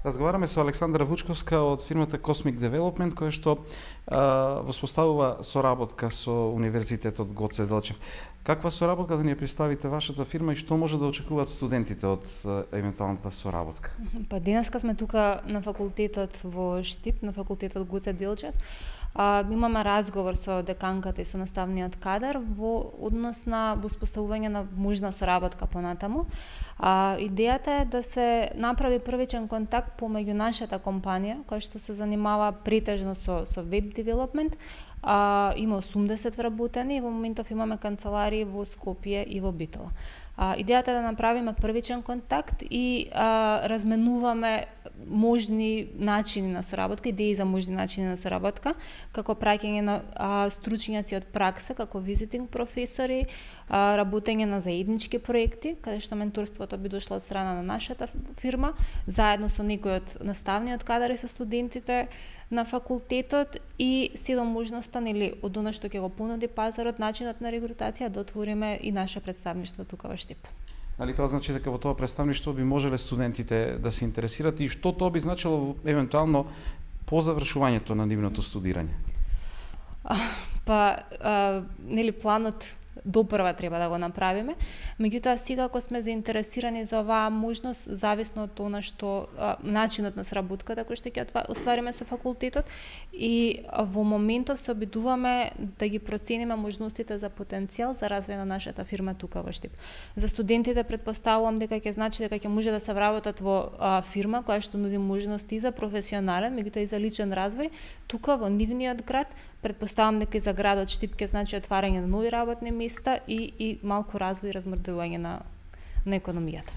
Разговараме со Александра Вучковска од фирмата Cosmic Development, која што воспоставува соработка со Универзитетот Гоце Делчев. Каква соработка да ни ја представите вашата фирма и што може да очекуваат студентите од евентуалната соработка? Па денеска сме тука на факултетот во Штип, на факултетот Гоце Делчев. Имаме разговор со деканката и со наставниот кадар во однос на воспоставување на можна соработка понатаму. Идејата е да се направи првичен контакт помеѓу нашата компанија, која што се занимава претежно со веб девелопмент. Има 80 вработени и во моментов имаме канцеларии во Скопје и во Битола. Идејата е да направиме првичен контакт и разменуваме можни начини на соработка, идеи за можни начини на соработка, како праќање на стручњаци од пракса, како визитинг професори, работење на заеднички проекти, каде што менторството би дошло од страна на нашата фирма, заедно со некој од наставниот кадар и со студентите на факултетот и седом можноста од она што ќе го понуди пазарот, начинот на регрутација, да отвориме и наше представништво тука во Штип. Дали тоа значи дека во тоа представништво би можеле студентите да се интересираат и што тоа би значило евентуално по завршувањето на нивното студирање? Планот допрва треба да го направиме. Меѓутоа, сега ако сме заинтересирани за оваа можност, зависно од она што начинот на сработката кој што ќе оствариме со факултетот, и во моментов се обидуваме да ги процениме можностите за потенцијал за развој на нашата фирма тука во Штип. За студентите претпоставувам дека ќе значи дека ќе може да се вработат во фирма која што нуди можности за професионален, меѓутоа и за личен развој тука во нивниот град. Претпоставам дека и за градот Штип ќе значи отварање на нови работни места и малку развој и размрдување на економијата.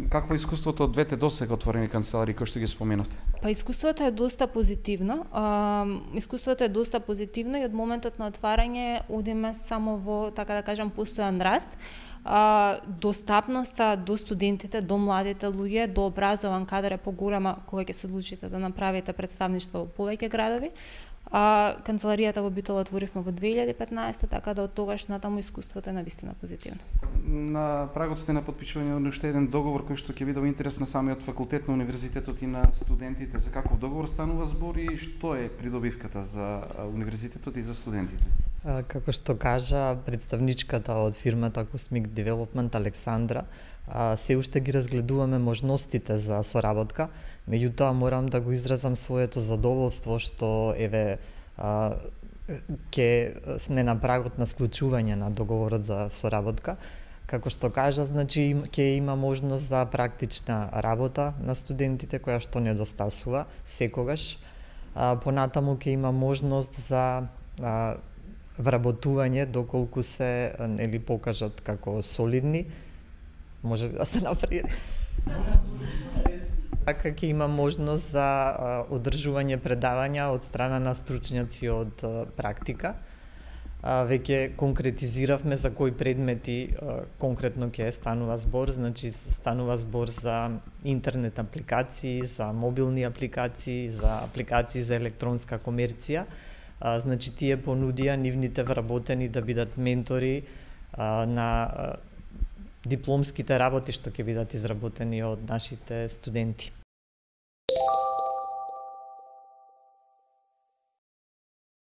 Какво е искуството од двете досега отворени канцеларии кои што ги споменавте? Па искуството е доста позитивно. И од моментот на отварање одиме само во, така да кажам, постојан раст. Достапноста до студентите, до младите луѓе, до образован кадар е поголема кога ќе се одлучите да направите представништво во повеќе градови. Канцеларијата во Битола отворивме во 2015, така да од тогаш натаму искуството е навистина позитивно. На прагот сте на потпишување на уште еден договор кој што ќе биде во интерес на самиот факултет, на универзитетот и на студентите. За каков договор станува збор и што е придобивката за универзитетот и за студентите? Како што кажа представничката од фирмата Cosmic Development Александра, се уште ги разгледуваме можностите за соработка, меѓутоа морам да го изразам своето задоволство што ќе сме на прагот на склучување на договорот за соработка. Како што кажа, значи ќе има можност за практична работа на студентите која што недостасува секогаш. Понатаму ќе има можност за вработување доколку се покажат како солидни. Може да се направи. Така ќе има можност за одржување предавања од страна на стручњаци од практика. Веќе конкретизиравме за кои предмети конкретно ќе станува збор, значи станува збор за интернет апликации, за мобилни апликации, за апликации за електронска комерција. Значи тие понудија нивните вработени да бидат ментори на дипломските работи што ќе бидат изработени од нашите студенти.